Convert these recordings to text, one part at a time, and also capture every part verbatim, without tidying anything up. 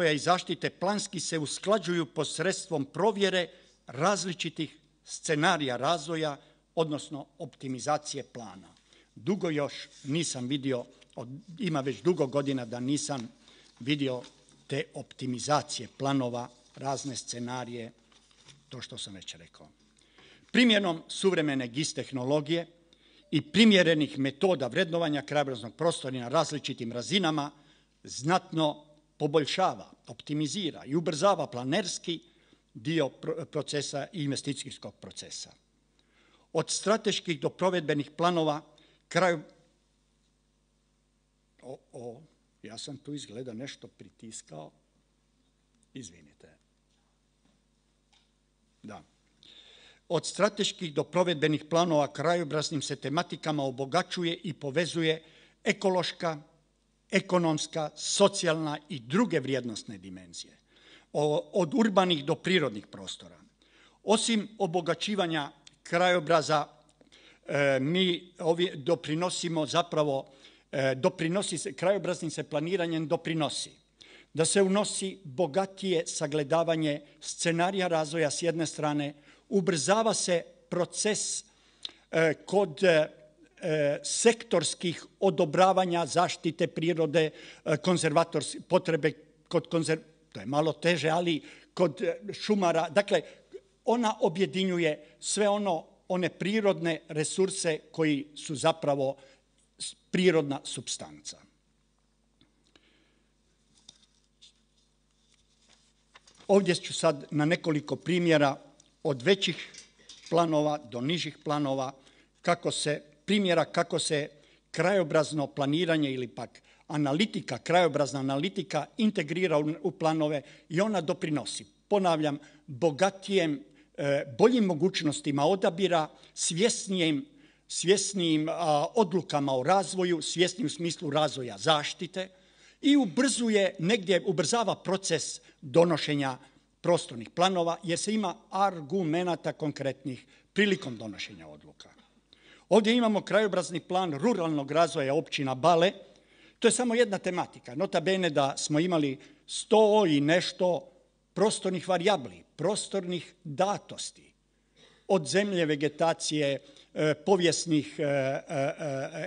i zaštite planski se usklađuju posredstvom provjere različitih scenarija razvoja, odnosno optimizacije plana. Dugo još nisam vidio, ima već dugo godina da nisam vidio te optimizacije planova, razne scenarije, to što sam već rekao. Primjenom suvremene G I S tehnologije i primjerenih metoda vrednovanja krajobraznog prostora na različitim razinama znatno poboljšava, optimizira i ubrzava planerski dio procesa i investicijskog procesa. Od strateških do provedbenih planova kraju... O, o, ja sam tu izgleda nešto pritiskao. Izvinite. Da. Od strateških do provedbenih planova krajobraznim se tematikama obogaćuje i povezuje ekološka, ekonomska, socijalna i druge vrijednosne dimenzije. Od urbanih do prirodnih prostora. Osim obogaćivanja krajobraza, mi ovdje doprinosimo zapravo, doprinosi se, krajobraznim se planiranjem doprinosi da se unosi bogatije sagledavanje scenarija razvoja s jedne strane, ubrzava se proces kod sektorskih odobravanja zaštite prirode, konzervatorske potrebe kod konzerv... to je malo teže, ali kod šumara, dakle, ona objedinjuje sve ono, one prirodne resurse koji su zapravo prirodna supstanca. Ovdje ću sad na nekoliko primjera od većih planova do nižih planova, kako se, primjera kako se krajobrazno planiranje ili pak analitika, krajobrazna analitika integrira u planove i ona doprinosi, ponavljam, bogatijem, boljim mogućnostima odabira, svjesnijim, svjesnijim odlukama o razvoju, svjesnijim u smislu razvoja zaštite i ubrzuje, negdje ubrzava proces donošenja prostornih planova jer se ima argumenata konkretnih prilikom donošenja odluka. Ovdje imamo krajobrazni plan ruralnog razvoja općina Bale. To je samo jedna tematika. Nota bene da smo imali sto i nešto prostornih varijabli, prostornih datosti. Od zemlje, vegetacije, povijesnih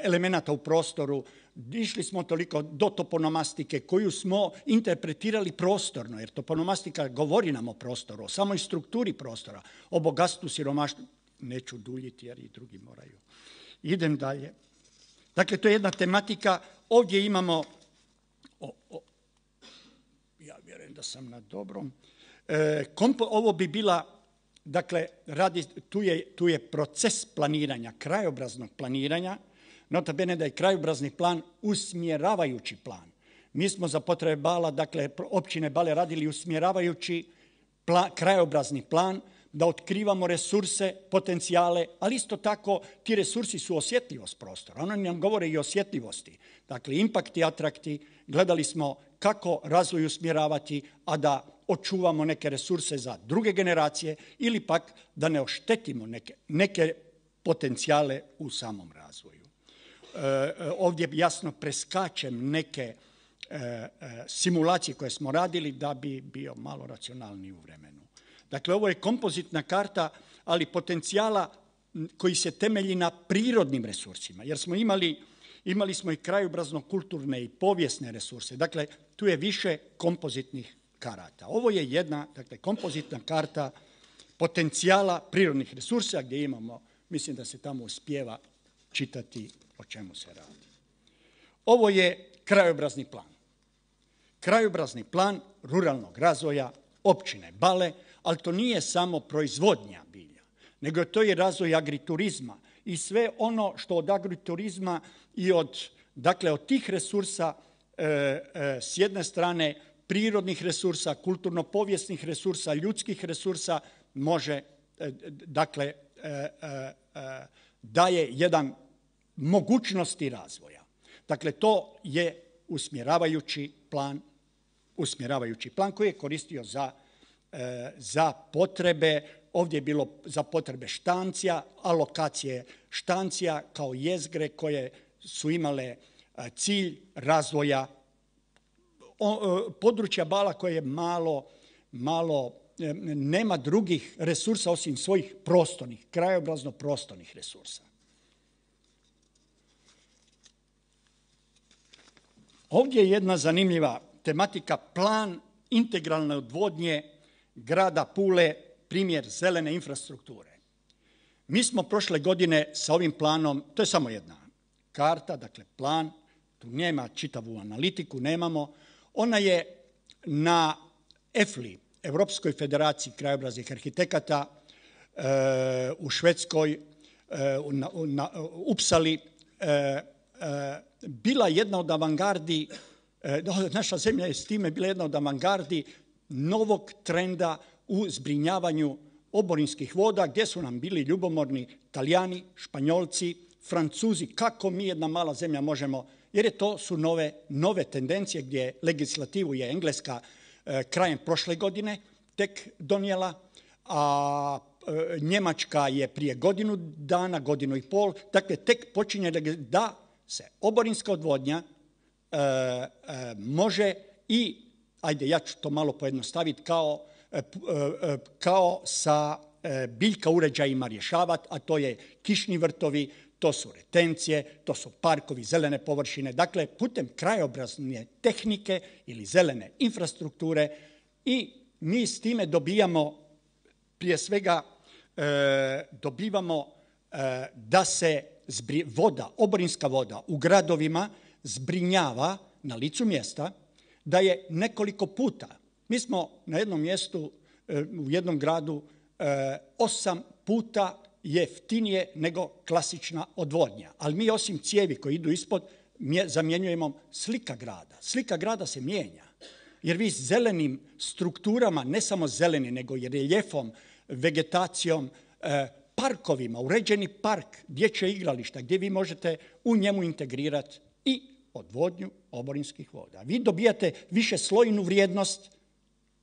elemenata u prostoru. Išli smo toliko do toponomastike koju smo interpretirali prostorno, jer toponomastika govori nam o prostoru, o samoj strukturi prostora, o bogatstvu, siromaštvu. Neću duljiti jer i drugi moraju. Idem dalje. Dakle, to je jedna tematika. Ovdje imamo, o, o, ja vjerujem da sam na dobrom, e, kompo, ovo bi bila, dakle, radi, tu, je, tu je proces planiranja, krajobraznog planiranja, nota bene da je krajobrazni plan usmjeravajući plan. Mi smo za potrebe Bala, dakle, općine Bale radili usmjeravajući plan, krajobrazni plan, da otkrivamo resurse, potencijale, ali isto tako ti resursi su osjetljivost prostora. Oni nam govore i o osjetljivosti. Dakle, impakt i atrakti, gledali smo kako razvoj usmjeravati, a da očuvamo neke resurse za druge generacije ili pak da ne oštetimo neke, neke potencijale u samom razvoju. E, ovdje jasno preskačem neke e, e, simulacije koje smo radili da bi bio malo racionalniji u vremenu. Dakle, ovo je kompozitna karta, ali potencijala koji se temelji na prirodnim resursima, jer smo imali, imali smo i krajobrazno-kulturne i povijesne resurse. Dakle, tu je više kompozitnih karata. Ovo je jedna, dakle, kompozitna karta potencijala prirodnih resursa gdje imamo, mislim da se tamo uspijeva čitati o čemu se radi. Ovo je krajobrazni plan. Krajobrazni plan ruralnog razvoja općine Bale, ali to nije samo proizvodnja bilja, nego je to i razvoj agriturizma i sve ono što od agriturizma i od, dakle, od tih resursa e, e, s jedne strane prirodnih resursa, kulturno-povijesnih resursa, ljudskih resursa može, e, dakle, e, e, e, daje jedan mogućnosti razvoja. Dakle, to je usmjeravajući plan, usmjeravajući plan koji je koristio za za potrebe, ovdje je bilo za potrebe štancija, alokacije štancija kao jezgre koje su imale cilj razvoja područja Bala koje je malo, malo nema drugih resursa osim svojih prostornih, krajobrazno prostornih resursa. Ovdje je jedna zanimljiva tematika, plan integralne odvodnje grada Pule, primjer zelene infrastrukture. Mi smo prošle godine sa ovim planom, to je samo jedna karta, dakle plan, tu nema čitavu analitiku, nemamo. Ona je na E F L I, Europskoj federaciji krajobraznih arhitekata, e, u Švedskoj, e, na, na Upsali, e, e, bila jedna od avangardi, e, naša zemlja je s time bila jedna od avangardi novog trenda u zbrinjavanju oborinskih voda, gdje su nam bili ljubomorni Talijani, Španjolci, Francuzi, kako mi jedna mala zemlja možemo, jer je to su nove, nove tendencije gdje legislativu je Engleska e, krajem prošle godine tek donijela, a e, Njemačka je prije godinu dana, godinu i pol, dakle tek počinje da se oborinska odvodnja e, e, može i, ajde ja ću to malo pojednostaviti, kao, e, e, kao sa e, biljka uređajima rješavati, a to je kišni vrtovi, to su retencije, to su parkovi, zelene površine, dakle putem krajobrazne tehnike ili zelene infrastrukture, i mi s time dobijamo, prije svega e, dobivamo e, da se zbri, voda, oborinska voda u gradovima zbrinjava na licu mjesta, da je nekoliko puta. Mi smo na jednom mjestu, e, u jednom gradu, e, osam puta jeftinije nego klasična odvodnja. Ali mi osim cijevi koji idu ispod zamjenjujemo slika grada. Slika grada se mijenja. Jer vi zelenim strukturama, ne samo zeleni, nego i reljefom, vegetacijom, parkovima, uređeni park, dječje igrališta, gdje vi možete u njemu integrirati i odvodnju oborinskih voda. Vi dobijate višeslojnu vrijednost,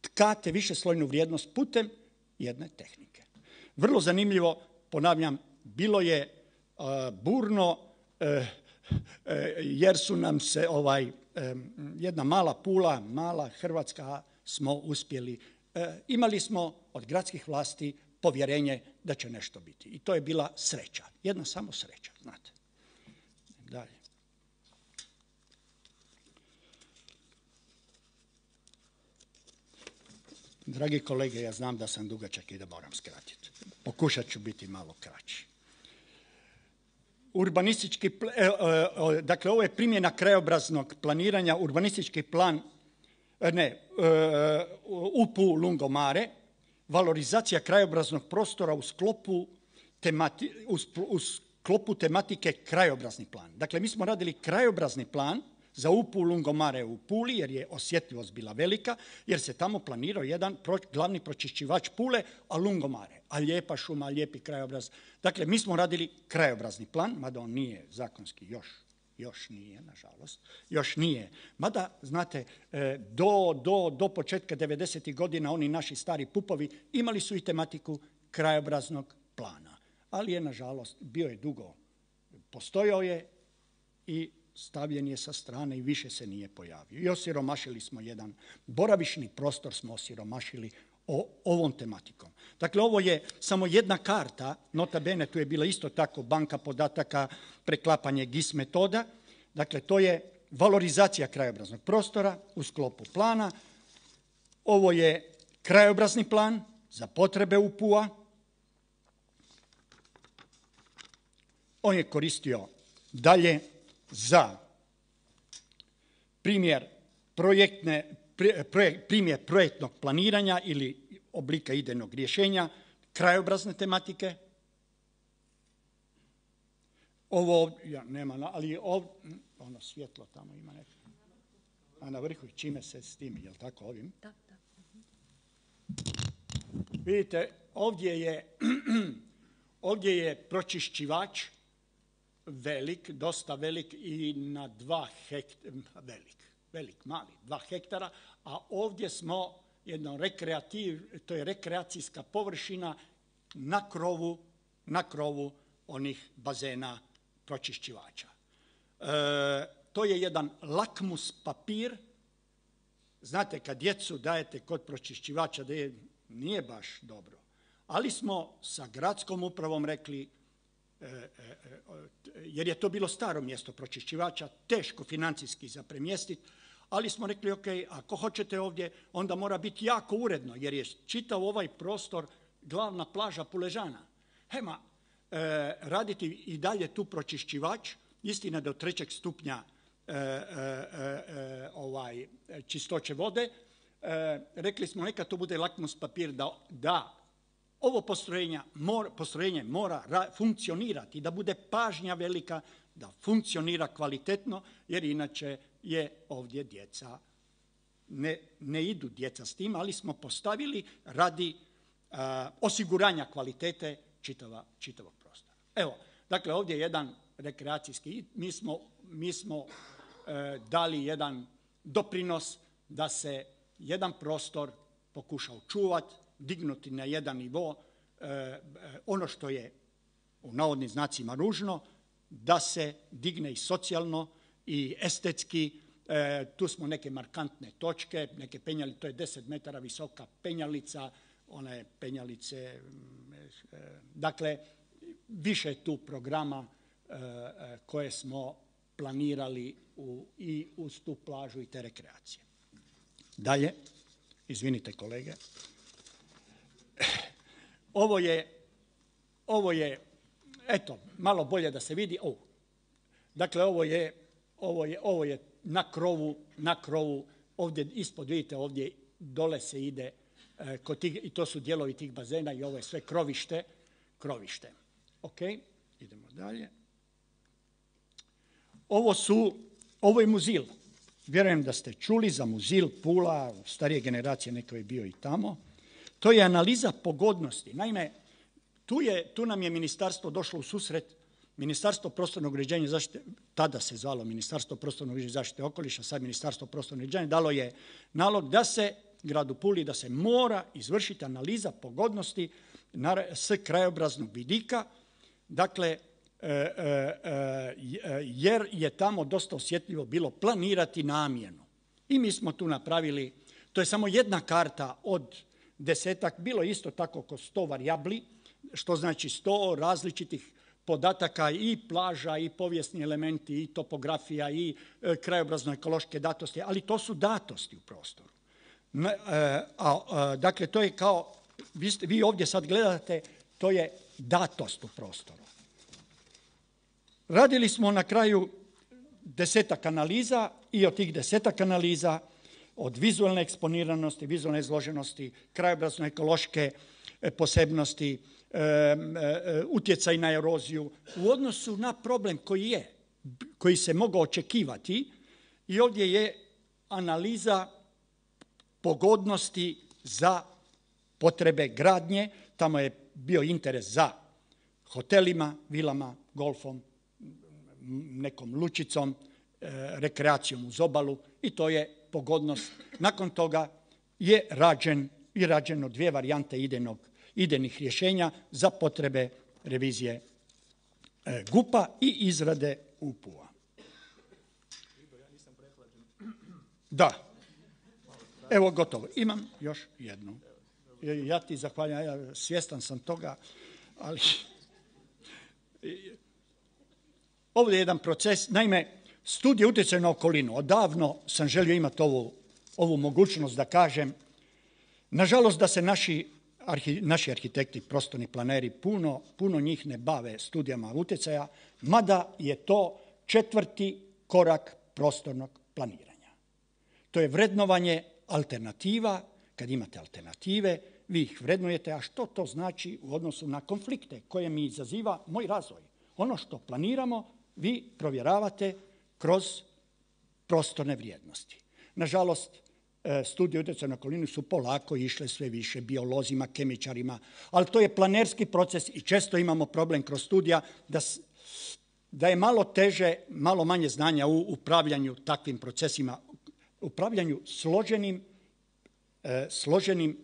tkate višeslojnu vrijednost putem jedne tehnike. Vrlo zanimljivo, ponavljam, bilo je uh, burno uh, uh, jer su nam se ovaj, um, jedna mala Pula, mala Hrvatska smo uspjeli. Uh, imali smo od gradskih vlasti povjerenje da će nešto biti. I to je bila sreća. Jedna samo sreća, znate. Dalje. Dragi kolege, ja znam da sam dugačak i da moram skratiti. Pokušat ću biti malo kraći. Urbanistički, dakle, ovo je primjena krajobraznog planiranja, urbanistički plan, ne, U P U Lungomare, valorizacija krajobraznog prostora u sklopu, temati, u sklopu tematike krajobrazni plan. Dakle, mi smo radili krajobrazni plan za U P U Lungomare u Puli, jer je osjetljivost bila velika, jer se tamo planirao jedan pro, glavni pročišćivač Pule, a Lungomare, a lijepa šuma, lijepi krajobraz. Dakle, mi smo radili krajobrazni plan, mada on nije zakonski još, još nije, nažalost, još nije. Mada, znate, do, do, do početka devedesetih godina oni naši stari pupovi imali su i tematiku krajobraznog plana, ali je, nažalost, bio je dugo, postojao je i stavljen je sa strane i više se nije pojavio. I osiromašili smo jedan boravišni prostor, smo osiromašili o, ovom tematikom. Dakle, ovo je samo jedna karta, nota bene, tu je bila isto tako banka podataka, preklapanje G I S metoda. Dakle, to je valorizacija krajobraznog prostora u sklopu plana. Ovo je krajobrazni plan za potrebe U P U-a. On je koristio dalje za primjer, projektne, primjer projektnog planiranja ili oblika idejnog rješenja, krajobrazne tematike. Ovo, ja, nema, ali ovo, ono svjetlo tamo ima neko. A na vrhu, čime se s tim, je li tako ovim? Da, da. Vidite, ovdje je, ovdje je pročišćivač velik, dosta velik i na dva hektara, velik, velik, mali, dva hektara, a ovdje smo jedno rekreativ, to je rekreacijska površina na krovu, na krovu onih bazena pročišćivača. E, to je jedan lakmus papir znate, kad djecu dajete kod pročišćivača, da je, nije baš dobro. Ali smo sa gradskom upravom rekli, e, e, jer je to bilo staro mjesto pročišćivača, teško financijski za premjestiti, ali smo rekli, ok, ako hoćete ovdje, onda mora biti jako uredno, jer je čitav ovaj prostor glavna plaža Puležana. Hema, e, raditi i dalje tu pročišćivač, istina do trećeg stupnja e, e, e, ovaj, čistoće vode, e, rekli smo neka to bude lakmus papir da, da ovo postrojenje mora, postrojenje mora ra, funkcionirati, da bude pažnja velika, da funkcionira kvalitetno, jer inače je ovdje djeca, ne, ne idu djeca s tim, ali smo postavili radi a, osiguranja kvalitete čitava, čitavog prostora. Evo, dakle, ovdje je jedan rekreacijski, mi smo, mi smo e, dali jedan doprinos da se jedan prostor pokuša očuvati, dignuti na jedan nivo, e, e, ono što je u navodnim znacima ružno, da se digne i socijalno i estetski. E, tu smo neke markantne točke, neke penjalice, to je deset metara visoka penjalica, one penjalice, e, dakle, više tu programa e, koje smo planirali u, i uz tu plažu i te rekreacije. Dalje, izvinite kolege, ovo je, ovo je, eto, malo bolje da se vidi, oh. Dakle, ovo je, ovo je, ovo je na krovu, na krovu, ovdje ispod, vidite, ovdje dole se ide, e, kod tih, i to su dijelovi tih bazena i ovo je sve krovište, krovište. Ok, idemo dalje. Ovo su, ovo je Muzil. Vjerujem da ste čuli za Muzil, Pula, starije generacije, neko je bio i tamo. To je analiza pogodnosti. Naime, tu, je, tu nam je ministarstvo došlo u susret, Ministarstvo prostornog uređenja i zaštite, tada se zvalo Ministarstvo prostornog uređenja i zaštite okoliša, sad Ministarstvo prostornog uređenja, dalo je nalog da se gradu Puli, da se mora izvršiti analiza pogodnosti s krajobraznog vidika, dakle, jer je tamo dosta osjetljivo bilo planirati namjenu. I mi smo tu napravili, to je samo jedna karta od desetak, bilo isto tako oko sto varijabli, što znači sto različitih podataka i plaža i povijesni elementi i topografija i krajobrazno-ekološke datosti, ali to su datosti u prostoru. A, a, dakle, to je kao, vi, ste, vi ovdje sad gledate, to je datost u prostoru. Radili smo na kraju desetak analiza i od tih desetak analiza od vizualne eksponiranosti, vizualne izloženosti, krajobrazno-ekološke posebnosti, e, e, utjecaj na eroziju u odnosu na problem koji je, koji se mogao očekivati. I ovdje je analiza pogodnosti za potrebe gradnje. Tamo je bio interes za hotelima, vilama, golfom, nekom lučicom, e, rekreacijom uz obalu i to je pogodnost. Nakon toga je rađen i rađeno dvije varijante idejnog, idejnih rješenja za potrebe revizije e, G U P-a i izrade U P U-a. Da. Evo gotovo. Imam još jednu. Ja ti zahvaljujem, ja svjestan sam toga, ali ovdje je jedan proces. Naime, studija utjecaja na okolinu. Odavno sam želio imati ovu, ovu mogućnost da kažem. Nažalost da se naši, arhi, naši arhitekti, prostorni planeri, puno, puno njih ne bave studijama utjecaja, mada je to četvrti korak prostornog planiranja. To je vrednovanje alternativa. Kad imate alternative, vi ih vrednujete, a što to znači u odnosu na konflikte koje mi izaziva moj razvoj? Ono što planiramo, vi provjeravate kroz prostorne vrijednosti. Nažalost, studije utjecaja na okolinu su polako išle sve više biolozima, kemičarima, ali to je planerski proces i često imamo problem kroz studija da, da je malo teže, malo manje znanja u upravljanju takvim procesima, upravljanju složenim, e, složenim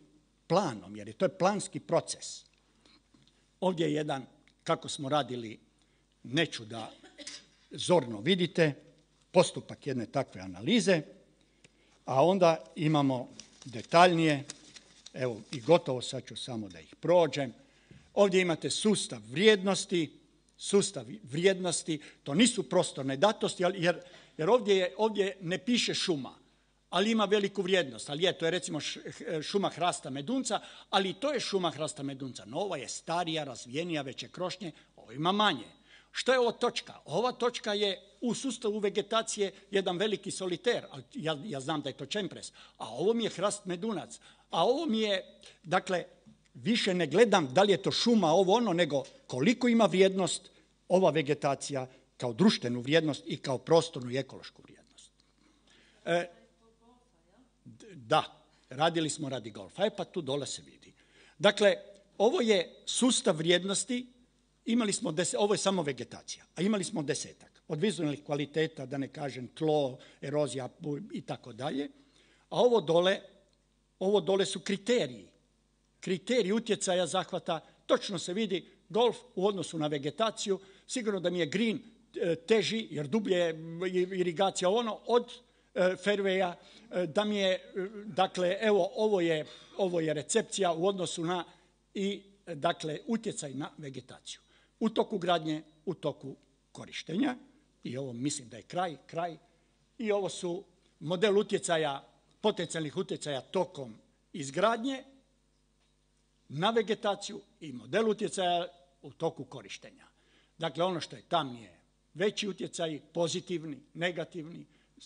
planom, jer je to je planski proces. Ovdje je jedan, kako smo radili, neću da zorno vidite, postupak jedne takve analize. a onda imamo detaljnije, evo i gotovo sad ću samo da ih prođem. Ovdje imate sustav vrijednosti, sustav vrijednosti, to nisu prostorne datosti, jer, jer ovdje, je, ovdje ne piše šuma, ali ima veliku vrijednost. Ali je, to je recimo šuma hrasta medunca, ali to je šuma hrasta medunca. No, ova je starija, razvijenija, veće krošnje, ovo ima manje. Što je ovo točka? Ova točka je u sustavu vegetacije jedan veliki soliter, ja, ja znam da je to čempres, a ovo mi je hrast medunac. A ovo mi je, dakle, više ne gledam da li je to šuma, ovo ono, nego koliko ima vrijednost ova vegetacija kao društvenu vrijednost i kao prostornu i ekološku vrijednost. E, da, radili smo radi golfa, e pa tu dole se vidi. Dakle, ovo je sustav vrijednosti, imali smo deset, ovo je samo vegetacija, a imali smo desetak. Od vizualnih kvaliteta, da ne kažem tlo, erozija i tako dalje, a ovo dole, ovo dole su kriteriji. Kriterij utjecaja zahvata, točno se vidi golf u odnosu na vegetaciju, sigurno da mi je green teži, jer dublje je irigacija ono od fairwaya, da mi je, dakle, evo, ovo je, ovo je recepcija u odnosu na i, dakle, utjecaj na vegetaciju. U toku gradnje, u toku korištenja, i ovo mislim da je kraj, kraj, i ovo su model utjecaja, potencijalnih utjecaja tokom izgradnje, na vegetaciju i model utjecaja u toku korištenja. Dakle, ono što je tam je veći utjecaj, pozitivni, negativni,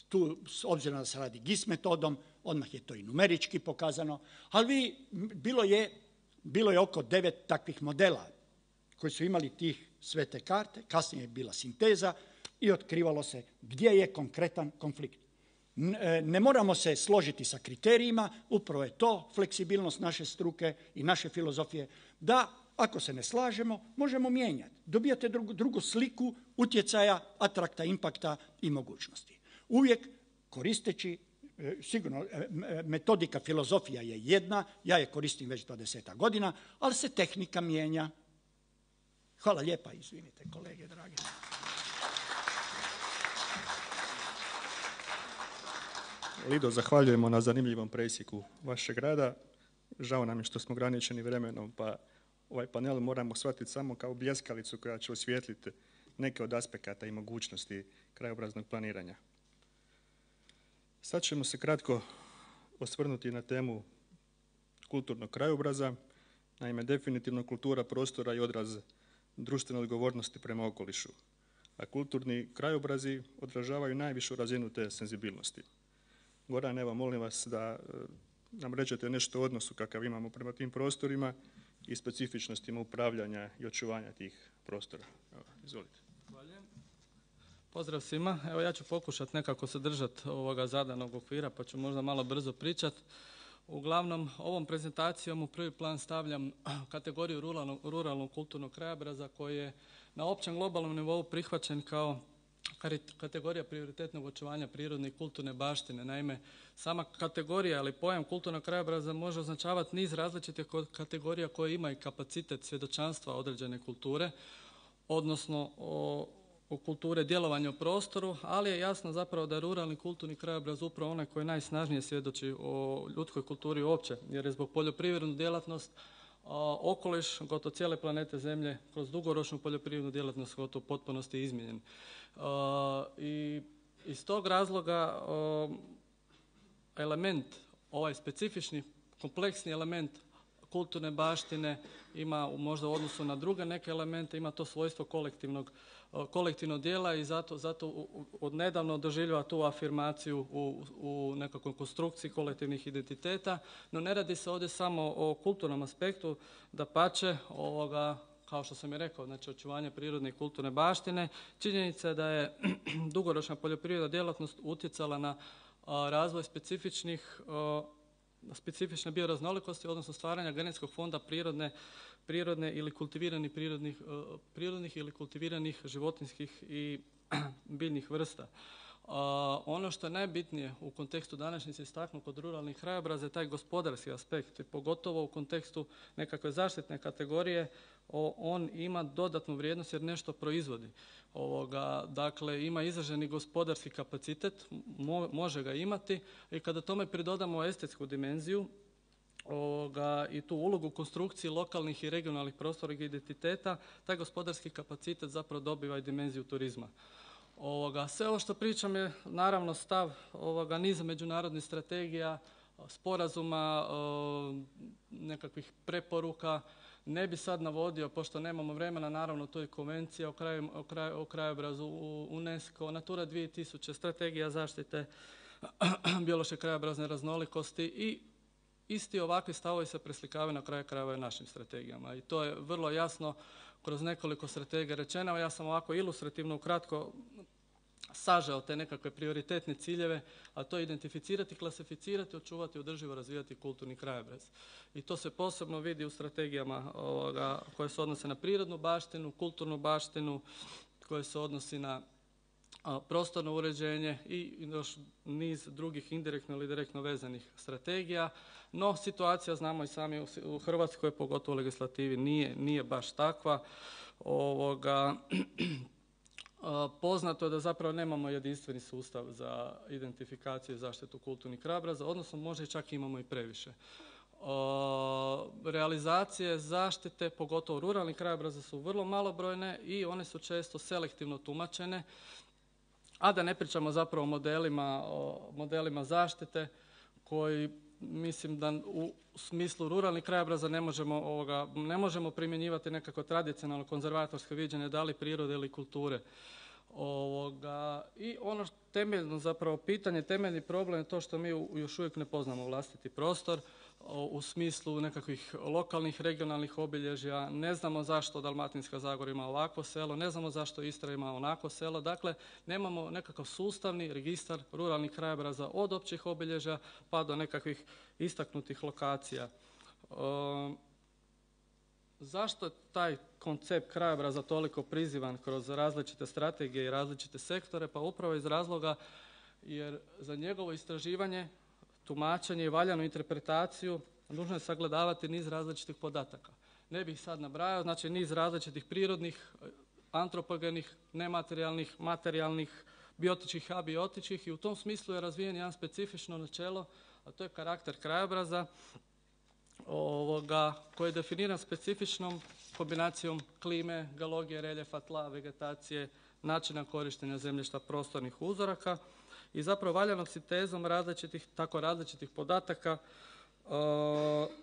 tu s obzirom da se radi G I S metodom, odmah je to i numerički pokazano, ali vi, bilo je, bilo je oko devet takvih modela koji su imali tih sve te karte, kasnije je bila sinteza i otkrivalo se gdje je konkretan konflikt. Ne moramo se složiti sa kriterijima, upravo je to fleksibilnost naše struke i naše filozofije, da ako se ne slažemo, možemo mijenjati. Dobijate drugu, drugu sliku utjecaja, atrakta, impakta i mogućnosti. Uvijek koristeći, sigurno metodika, filozofija je jedna, ja je koristim već dvadeset godina, ali se tehnika mijenja. Hvala lijepa, izvinite kolege dragi. Lido, zahvaljujemo na zanimljivom presjeku vašeg rada. Žao nam je što smo ograničeni vremenom, pa ovaj panel moramo shvatiti samo kao bljeskalicu koja će osvijetliti neke od aspekata i mogućnosti krajobraznog planiranja. Sad ćemo se kratko osvrnuti na temu kulturnog krajobraza. Naime, definitivno kultura prostora i odraz društvene odgovornosti prema okolišu, a kulturni krajobrazi odražavaju najvišu razinu te senzibilnosti. Goran, evo, molim vas da nam rečete nešto o odnosu kakav imamo prema tim prostorima i specifičnostima upravljanja i očuvanja tih prostora. Evo, izvolite. Zahvaljujem. Pozdrav svima. Evo, ja ću pokušati nekako se držati ovoga zadanog okvira, pa ću možda malo brzo pričati. Uglavnom, ovom prezentacijom u prvi plan stavljam kategoriju ruralnog, ruralnog kulturnog krajobraza koji je na općem globalnom nivou prihvaćen kao kategorija prioritetnog očuvanja prirodne i kulturne baštine. Naime, sama kategorija ili pojam kulturnog krajobraza može označavati niz različitih kategorija koje imaju kapacitet svjedočanstva određene kulture, odnosno o, o kulture djelovanja u prostoru, ali je jasno zapravo da je ruralni kulturni krajobraz upravo onaj koji najsnažnije svjedoči o ljudskoj kulturi uopće, jer je zbog poljoprivrednu djelatnost okoliš gotovo cijele planete Zemlje kroz dugoročnu poljoprivrednu djelatnost gotovo u potpunosti izmijenjen. I iz tog razloga element, ovaj specifični, kompleksni element kulturne baštine ima možda u odnosu na druge neke elemente, ima to svojstvo kolektivnog, kolektivnog dijela i zato, zato odnedavno doživljava tu afirmaciju u, u nekakvoj konstrukciji kolektivnih identiteta, no ne radi se ovdje samo o kulturnom aspektu, dapače, ovoga, kao što sam i rekao, znači očuvanje prirodne i kulturne baštine, činjenica je da je dugoročna poljoprivredna djelatnost utjecala na a, razvoj specifičnih a, specifične bioraznolikosti, odnosno stvaranja genetskog fonda prirodne, prirodne ili kultiviranih prirodnih, prirodnih ili kultiviranih životinjskih i biljnih vrsta. ono što je najbitnije u kontekstu današnjice istaknuti kod ruralnih krajobraza je taj gospodarski aspekt, pogotovo u kontekstu nekakve zaštitne kategorije, on ima dodatnu vrijednost jer nešto proizvodi. Ovoga, dakle, ima izraženi gospodarski kapacitet, mo, može ga imati i kada tome pridodamo estetsku dimenziju ovoga, i tu ulogu konstrukciji lokalnih i regionalnih prostornih identiteta, taj gospodarski kapacitet zapravo dobiva i dimenziju turizma. Ovoga, sve ovo što pričam je naravno stav ovoga niza međunarodnih strategija, sporazuma, nekakvih preporuka. Ne bi sad navodio, pošto nemamo vremena, naravno to je konvencija o, kraju, o, kraju, o krajobrazu UNESCO, Natura dvije tisuće, strategija zaštite biološke krajobrazne raznolikosti i isti ovakvi stavovi se preslikavaju na kraju krajeva i našim strategijama. I to je vrlo jasno kroz nekoliko strategija rečeno. Ja sam ovako ilustrativno ukratko sažeo te nekakve prioritetne ciljeve, a to je identificirati, klasificirati, očuvati, održivo razvijati kulturni krajobraz. I to se posebno vidi u strategijama ovoga, koje se odnose na prirodnu baštinu, kulturnu baštinu, koje se odnosi na a, prostorno uređenje i još niz drugih indirektno ili direktno vezanih strategija. No, situacija, znamo i sami u, u Hrvatskoj, pogotovo u legislativi, nije, nije baš takva. Ovoga, poznato je da zapravo nemamo jedinstveni sustav za identifikaciju i zaštitu kulturnih krajobraza, odnosno možda i čak imamo i previše. Realizacije zaštite, pogotovo ruralnih krajobraza, su vrlo malobrojne i one su često selektivno tumačene, a da ne pričamo zapravo o modelima, o modelima zaštite koji mislim da u smislu ruralnih krajobraza ne možemo, ovoga, ne možemo primjenjivati nekako tradicionalno konzervatorsko viđenje da li prirode ili kulture. Ovoga, i ono temeljno zapravo pitanje, temeljni problem je to što mi još uvijek ne poznamo vlastiti prostor u smislu nekakvih lokalnih, regionalnih obilježja. Ne znamo zašto Dalmatinska Zagora ima ovakvo selo, ne znamo zašto Istra ima onako selo. Dakle, nemamo nekakav sustavni registar ruralnih krajobraza od općih obilježja pa do nekakvih istaknutih lokacija. E, zašto je taj koncept krajobraza toliko prizivan kroz različite strategije i različite sektore? Pa upravo iz razloga jer za njegovo istraživanje, tumačenje i valjanu interpretaciju nužno je sagledavati niz različitih podataka. Ne bih sad nabrajao, znači niz različitih prirodnih, antropogenih, nematerijalnih, materijalnih, biotičkih, abiotičkih i u tom smislu je razvijen jedan specifično načelo, a to je karakter krajobraza ovoga, koji je definiran specifičnom kombinacijom klime, geologije, reljefa, tla, vegetacije, načina korištenja zemljišta, prostornih uzoraka i zapravo valjanom sintezom različitih, tako različitih podataka e,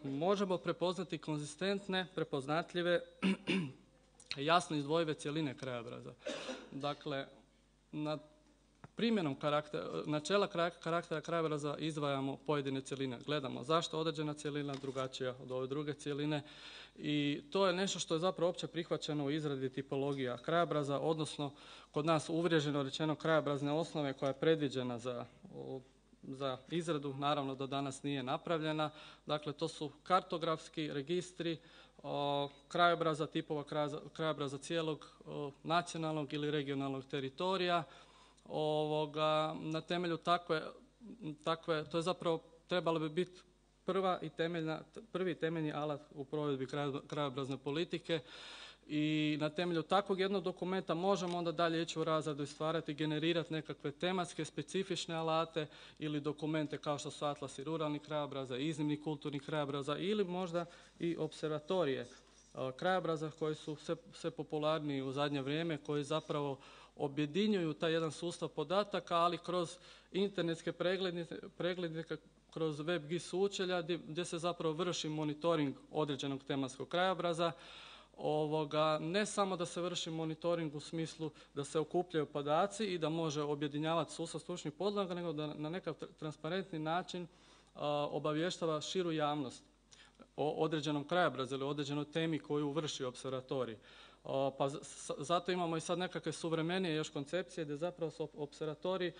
možemo prepoznati konzistentne, prepoznatljive, jasno izdvojive cjeline krajobraza. Dakle, na primjenom karaktera, načela karaktera krajobraza izdvajamo pojedine cjeline. Gledamo zašto određena cjelina drugačija od ove druge cjeline i to je nešto što je zapravo opće prihvaćeno u izradi tipologija krajobraza, odnosno kod nas uvriježeno rečeno krajobrazne osnove koja je predviđena za, za izradu, naravno do danas nije napravljena. Dakle, to su kartografski registri o, krajobraza, tipova krajobraza cijelog o, nacionalnog ili regionalnog teritorija. Ovoga, na temelju takve, takve, to je zapravo trebalo bi biti prva i temeljna, prvi temeljni alat u provedbi krajobrazne politike i na temelju takvog jednog dokumenta možemo onda dalje ići u razradu i stvarati, generirati nekakve tematske, specifične alate ili dokumente kao što su atlasi ruralnih krajobraza, iznimnih kulturnih krajobraza ili možda i observatorije krajobraza koji su sve, sve popularniji u zadnje vrijeme, koji zapravo objedinjuju taj jedan sustav podataka, ali kroz internetske preglednice, preglednice kroz web G I S sučelja gdje, gdje se zapravo vrši monitoring određenog tematskog krajobraza. Ovoga, ne samo da se vrši monitoring u smislu da se okupljaju podaci i da može objedinjavati sustav stručnih podloga, nego da na nekakav transparentni način a, obavještava širu javnost o određenom krajobrazu ili određenoj temi koju vrši observatorij. Pa zato imamo i sad nekakve suvremenije još koncepcije gdje zapravo su observatorij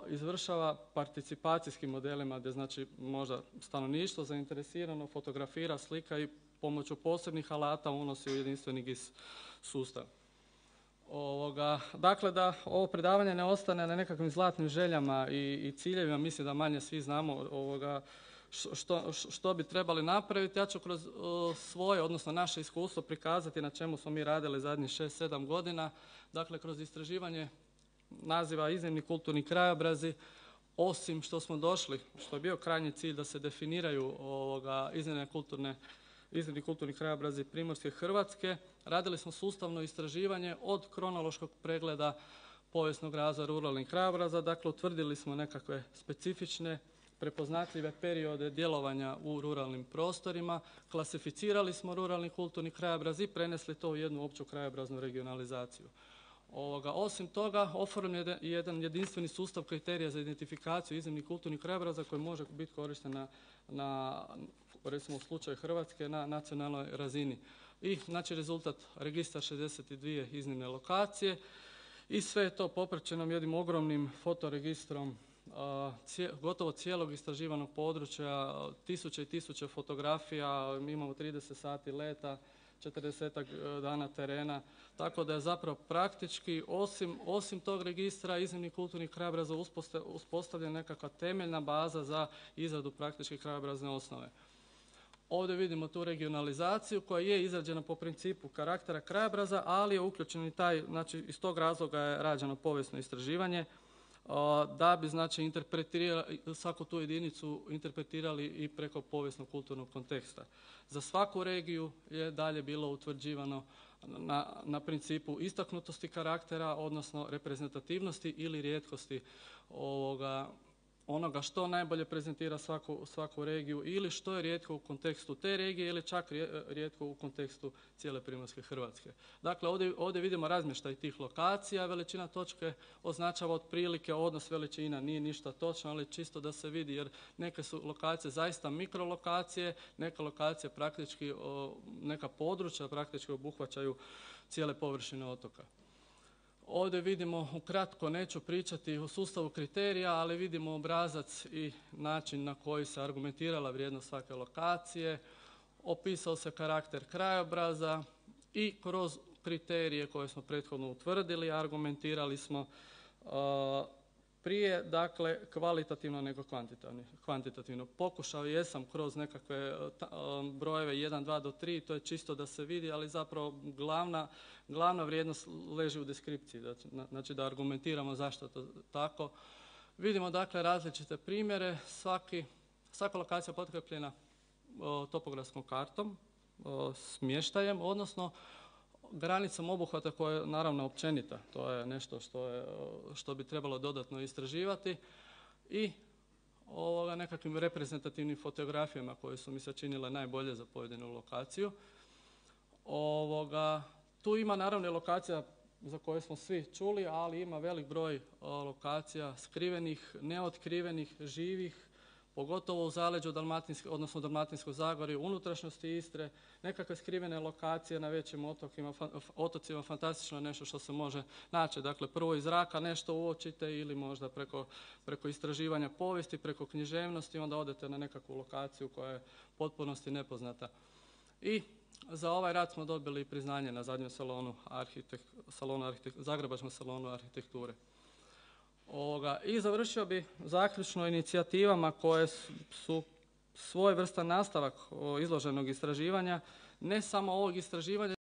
izvršava participacijskim modelima gdje znači možda stanovništvo zainteresirano fotografira, slika i pomoću posebnih alata unosi u jedinstveni G I S sustav. Ovoga, dakle, da ovo predavanje ne ostane na nekakvim zlatnim željama i, i ciljevima, mislim da manje svi znamo ovoga, što, što bi trebali napraviti. Ja ću kroz uh, svoje, odnosno naše iskustvo prikazati na čemu smo mi radili zadnjih šest sedam godina. Dakle, kroz istraživanje naziva iznimni kulturni krajobrazi, osim što smo došli, što je bio krajnji cilj da se definiraju ovoga, iznimne kulturne iznimni kulturni krajobrazi Primorske Hrvatske, radili smo sustavno istraživanje od kronološkog pregleda povijesnog razvoja ruralnih krajobraza. Dakle, utvrdili smo nekakve specifične, prepoznatljive periode djelovanja u ruralnim prostorima, klasificirali smo ruralni kulturni krajobraz i prenesli to u jednu opću krajobraznu regionalizaciju. Ovoga, osim toga, oformljen je jedan jedinstveni sustav kriterija za identifikaciju iznimnih kulturnih krajobraza koji može biti korišten na, na recimo u slučaju Hrvatske, na nacionalnoj razini. I znači rezultat registar šezdeset dvije iznimne lokacije i sve je to popraćeno jednim ogromnim fotoregistrom cije, gotovo cijelog istraživanog područja, tisuće i tisuće fotografija, mi imamo trideset sati leta, četrdesetak dana terena, tako da je zapravo praktički osim, osim tog registra iznimnih kulturnih krajobraza uspostavljena nekakva temeljna baza za izradu praktičke krajobrazne osnove. Ovdje vidimo tu regionalizaciju koja je izrađena po principu karaktera krajobraza, ali je uključen i taj, znači iz tog razloga je rađeno povijesno istraživanje, da bi znači interpretirali, svaku tu jedinicu interpretirali i preko povijesnog kulturnog konteksta. Za svaku regiju je dalje bilo utvrđivano na, na principu istaknutosti karaktera, odnosno reprezentativnosti ili rijetkosti ovoga, onoga što najbolje prezentira svaku, svaku regiju ili što je rijetko u kontekstu te regije ili čak rijetko u kontekstu cijele Primorske Hrvatske. Dakle, ovdje, ovdje vidimo razmještaj tih lokacija, veličina točke označava otprilike odnos veličina, nije ništa točno, ali čisto da se vidi jer neke su lokacije zaista mikrolokacije, neka lokacije praktički, neka područja praktički obuhvaćaju cijele površine otoka. Ovdje vidimo, ukratko neću pričati o sustavu kriterija, ali vidimo obrazac i način na koji se argumentirala vrijednost svake lokacije, opisao se karakter krajobraza i kroz kriterije koje smo prethodno utvrdili, argumentirali smo uh, prije, dakle, kvalitativno nego kvantitativno. Pokušao jesam kroz nekakve brojeve jedan, dva do tri, to je čisto da se vidi, ali zapravo glavna, glavna vrijednost leži u deskripciji, znači da argumentiramo zašto to tako. Vidimo, dakle, različite primjere, svaki, svaka lokacija potkrepljena topografskom kartom, o, smještajem, odnosno granicom obuhvata koja je naravno općenita, to je nešto što, je, što bi trebalo dodatno istraživati i ovoga, nekakvim reprezentativnim fotografijama koje su mi se činile najbolje za pojedinu lokaciju. Ovoga, tu ima naravno lokacija za koje smo svi čuli, ali ima velik broj o, lokacija skrivenih, neotkrivenih, živih, pogotovo u zaleđu Dalmatinske, odnosno Dalmatinskoj Zagori, unutrašnjosti Istre, nekakve skrivene lokacije na većim otokima, fa, otocima, fantastično nešto što se može naći. Dakle, prvo iz zraka nešto uočite ili možda preko, preko istraživanja povijesti, preko književnosti, onda odete na nekakvu lokaciju koja je potpunosti nepoznata. I za ovaj rad smo dobili priznanje na zadnjem salonu, arhitek, salonu arhitek, Zagrebačkom salonu arhitekture. Ovoga, i završio bi zaključno inicijativama koje su svojevrstan nastavak izloženog istraživanja, ne samo ovog istraživanja,